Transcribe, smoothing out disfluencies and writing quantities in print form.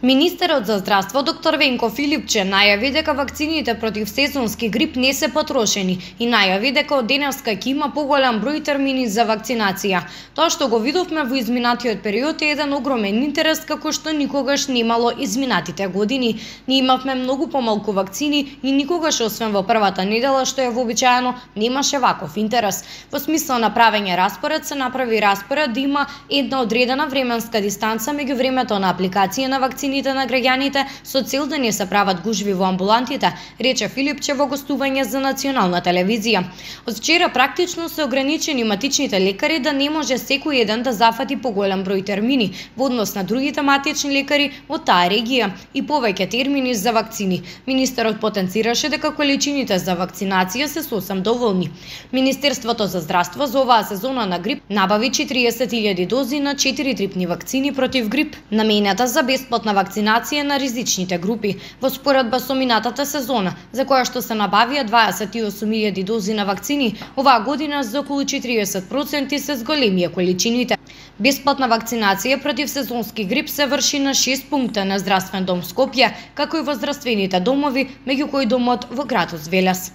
Министерот за здравство доктор Венко Филипче најави дека вакцините против сезонски грип не се потрошени и најави дека од денеска ќе има поголем број термини за вакцинација. Тоа што го видовме во изминатиот период е еден огромен интерес како што никогаш немало изминатите години. Ние имавме многу помалку вакцини и никогаш освен во првата недела што е вообичаено немаше ваков интерес. Во смисла на правење распоред се направи распоред да има една одредена временска дистанца меѓу времето на апликација на вакцините на граѓаните со цел да не се прават гужви во амбулантите, рече Филипче во гостување за национална телевизија. Од вчера практично се ограничени матичните лекари да не може секој еден да зафати поголем број термини во однос на другите матични лекари од таа регија и повеќе термини за вакцини. Министерот потенцираше дека количините за вакцинација се сосем доволни. Министерството за здравство за оваа сезона на грип набави 40.000 дози на 4 трипни вакцини против грип, наменета за бесплатна вакцинација на ризичните групи, во споредба со минатата сезона, за која што се набавија 28.000 дози на вакцини, оваа година за околу 40% се зголемија количините. Бесплатна вакцинација против сезонски грип се врши на 6 пункта на здравствен дом Скопје, како и во здравствените домови, меѓу кои домот во градот Велес.